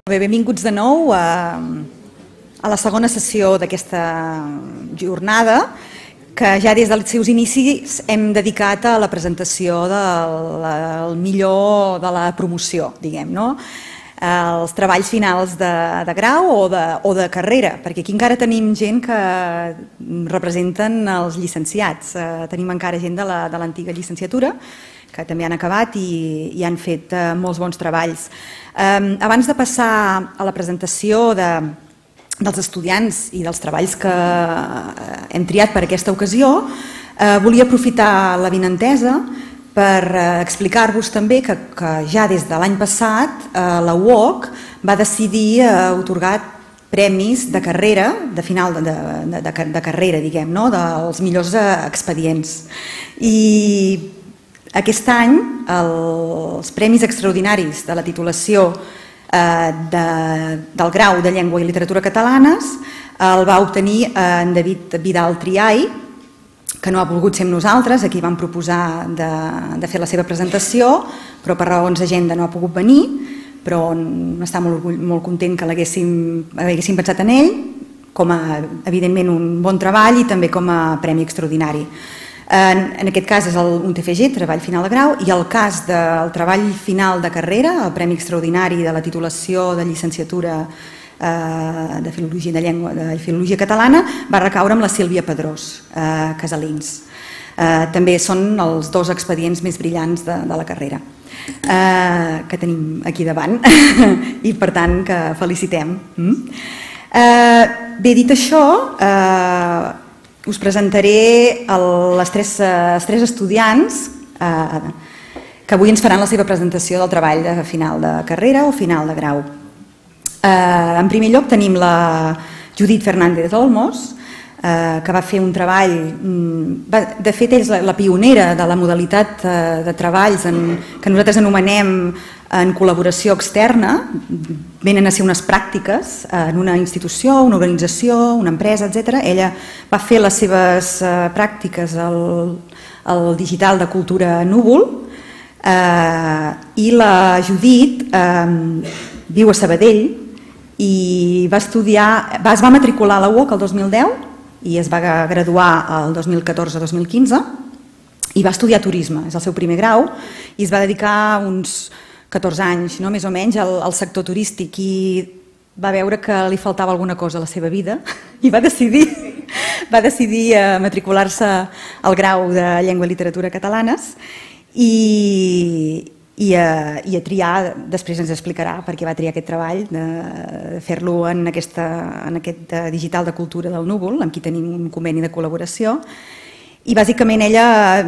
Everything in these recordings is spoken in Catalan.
Bé, benvinguts de nou a la segona sessió d'aquesta jornada, que ja des dels seus inicis hem dedicat a la presentació del millor de la promoció, diguem, no? Els treballs finals de grau o de carrera, perquè aquí encara tenim gent que representen els llicenciats, tenim encara gent de l'antiga llicenciatura, que també han acabat i han fet molts bons treballs. Abans de passar a la presentació dels estudiants i dels treballs que hem triat per aquesta ocasió, volia aprofitar l'avinentesa per explicar-vos també que ja des de l'any passat la UOC va decidir atorgar premis de carrera, de final de carrera, diguem, dels millors expedients. I aquest any els Premis Extraordinaris de la titulació del grau de Llengua i Literatura Catalanes el va obtenir en David Vidal Triay, que no ha volgut ser amb nosaltres, aquí vam proposar de fer la seva presentació, però per raons d'agenda no ha pogut venir, però està molt content que haguéssim pensat en ell, com a, evidentment, un bon treball i també com a premi extraordinari. En aquest cas és un TFG, treball final de grau, i el cas del treball final de carrera, el Premi Extraordinari de la titulació de llicenciatura de Filologia de Llengua de Filologia Catalana, va recaure amb la Sílvia Pedrós Casalins. També són els dos expedients més brillants de la carrera que tenim aquí davant i per tant que felicitem. Bé, dit això, us presentaré els tres estudiants que avui ens faran la seva presentació del treball de final de carrera o final de grau. En primer lloc tenim la Judit Fernández Olmos, que va fer un treball, de fet és la pionera de la modalitat de treballs que nosaltres anomenem en col·laboració externa, venen a ser unes pràctiques en una institució, una organització, una empresa, etc. Ella va fer les seves pràctiques al digital de Cultura Núvol i la Judit viu a Sabadell i es va matricular a la UOC el 2010 i es va graduar el 2014-2015 i va estudiar turisme, és el seu primer grau, i es va dedicar uns 14 anys, més o menys, al sector turístic i va veure que li faltava alguna cosa a la seva vida i va decidir matricular-se al grau de Llengua i Literatura Catalanes i a triar, després ens explicarà per què va triar aquest treball, de fer-lo en aquest digital de Cultura del Núvol, amb qui tenim un conveni de col·laboració. I bàsicament ella,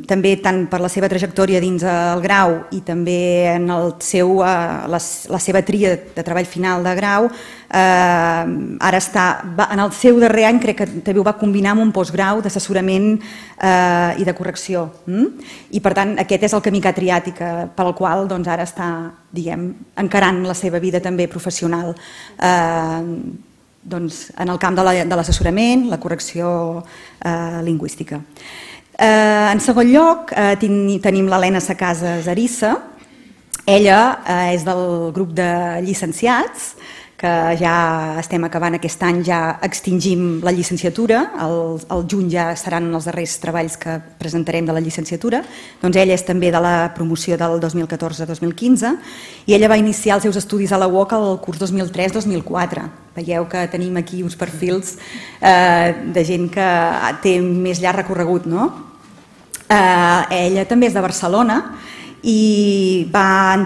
també tant per la seva trajectòria dins el grau i també en la seva tria de treball final de grau, ara està, en el seu darrer any crec que també ho va combinar amb un postgrau d'assessorament i de correcció. I per tant aquest és el camí que ha triat i pel qual ara està encarant la seva vida també professional en el camp de l'assessorament, la correcció lingüística. En segon lloc tenim l'Helena Sacasas Arissa. Ella és del grup de llicenciats, que ja estem acabant aquest any, ja extingim la llicenciatura, al juny ja seran els darrers treballs que presentarem de la llicenciatura, doncs ella és també de la promoció del 2014-2015 i ella va iniciar els seus estudis a la UOC el curs 2003-2004. Veieu que tenim aquí uns perfils de gent que té més llarg recorregut, no? Ella també és de Barcelona i va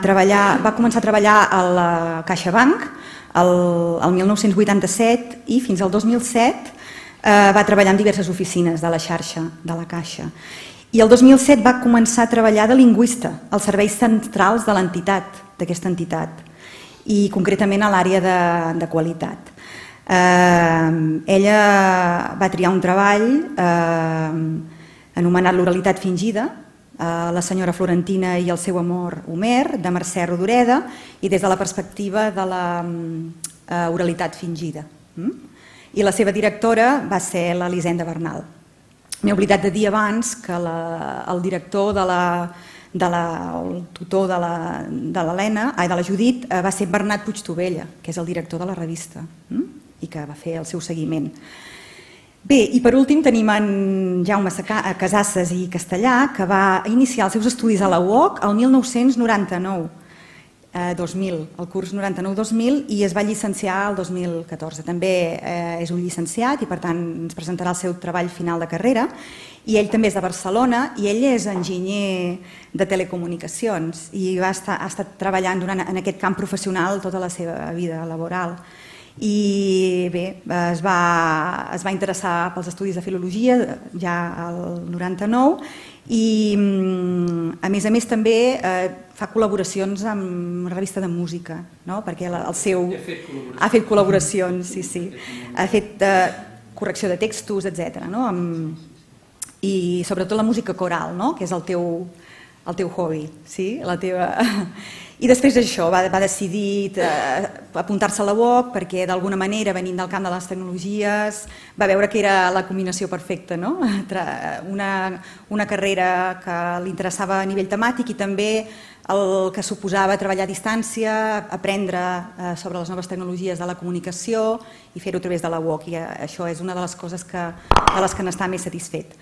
començar a treballar a la CaixaBank el 1987 i fins al 2007 va treballar en diverses oficines de la xarxa de la Caixa. I el 2007 va començar a treballar de lingüista als serveis centrals de l'entitat, d'aquesta entitat, i concretament a l'àrea de qualitat. Ella va triar un treball anomenat L'oralitat fingida, La senyora Florentina i el seu amor Homer, de Mercè Rodoreda, i des de la perspectiva de la oralitat fingida. I la seva directora va ser l'Elisenda Bernal. M'he oblidat de dir abans que el director de el tutor de la Judit va ser Bernat Puigtovella, que és el director de la revista i que va fer el seu seguiment. Bé, i per últim tenim en Jaume Casasses i Castellà, que va iniciar els seus estudis a la UOC el 1999-2000, el curs 99-2000, i es va llicenciar el 2014. També és un llicenciat i per tant ens presentarà el seu treball final de carrera. I ell també és de Barcelona i ell és enginyer de telecomunicacions i ha estat treballant en aquest camp professional tota la seva vida laboral. I bé, es va interessar pels estudis de filologia ja al 99 i a més també fa col·laboracions amb una revista de música, perquè ha fet col·laboracions, sí, ha fet correcció de textos, etc. I sobretot la música coral, que és el teu hobby, la teva... I després d'això va decidir apuntar-se a la UOC perquè d'alguna manera, venint del camp de les tecnologies, va veure que era la combinació perfecta, una carrera que li interessava a nivell temàtic i també el que suposava treballar a distància, aprendre sobre les noves tecnologies de la comunicació i fer-ho a través de la UOC, i això és una de les coses de les que n'està més satisfet.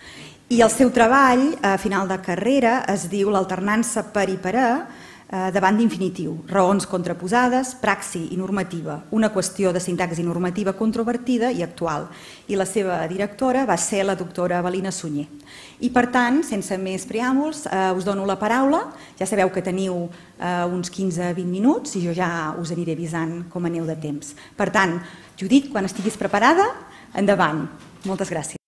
I el seu treball a final de carrera es diu l'alternança per i per a davant d'infinitiu, raons contraposades, praxi i normativa, una qüestió de sintaxi normativa controvertida i actual. I la seva directora va ser la doctora Evelina Sunyer. I per tant, sense més preàmbuls, us dono la paraula. Ja sabeu que teniu uns 15-20 minuts i jo ja us aniré avisant com aneu de temps. Per tant, Judit, quan estiguis preparada, endavant. Moltes gràcies.